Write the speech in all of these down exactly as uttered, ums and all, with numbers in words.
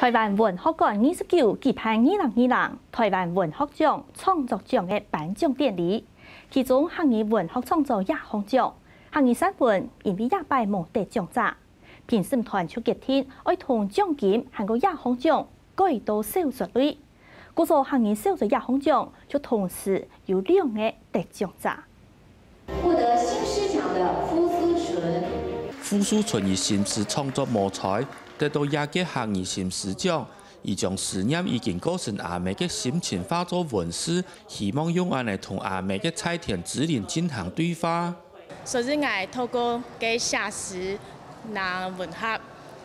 臺灣文學館二十九舉辦二零二零臺灣文學獎創作獎个頒獎典禮，其中客語文學創作野放獎、客語散文因為這擺無得獎者，評審團就決定愛同獎金還過野放獎改到小說類。故所客語小說野放獎就同時有兩個得獎者。 获得新诗奖的傅思纯。傅思纯以新詩創作無才，得到這屆客語新詩獎。佢將思念已經過身阿姆个心情化做文字，希望用恁樣同阿姆个在天之靈進行對話。所以𠊎透過个寫詩，拿文學，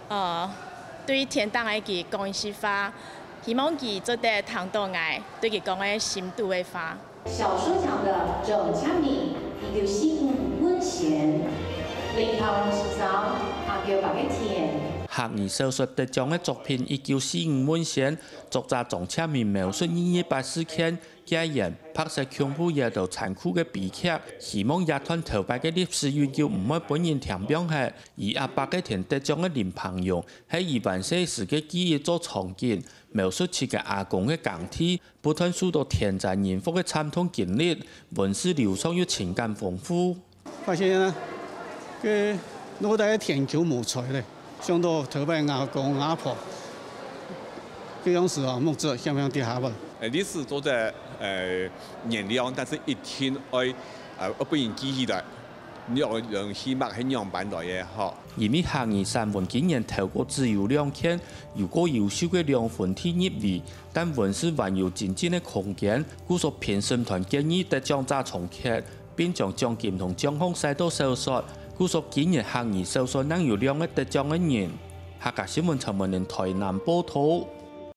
呃，對天頂个佢講一句話，希望佢做得聽到𠊎對佢講个心肚个話。 小说奖的总奖名一九四五文选，林桃红先生阿狗伯个田。客語小說得獎个作品一九四五文選，作者張哲明描述二二八事件，戒嚴、白色恐怖這兜殘酷个悲劇，希望這段頭擺个歷史永久毋會分人添放忒。以阿伯个田得獎个林朋友，係以還細時个記憶做場景，描述自家阿公个耕地， 不斷受到天災人禍个慘痛經歷，文字流暢又情感豐富。發現啊，个腦袋个田坵無在咧，想到頭擺阿公阿婆，个樣時啊，目汁響響跌下來。呃，歷史做得呃原諒，但是一定愛呃愛分人記起來，你愛人起碼係仰般來个吼。因為客語散文今年透過自由兩件，有過優秀个兩分天入圍， 但文字還有精進个空間，故所評審團建議得獎者重決，並將獎金同獎項徙到小說，故所今年客語小說正有兩個得獎个人。客家新聞陳文玲臺南報導。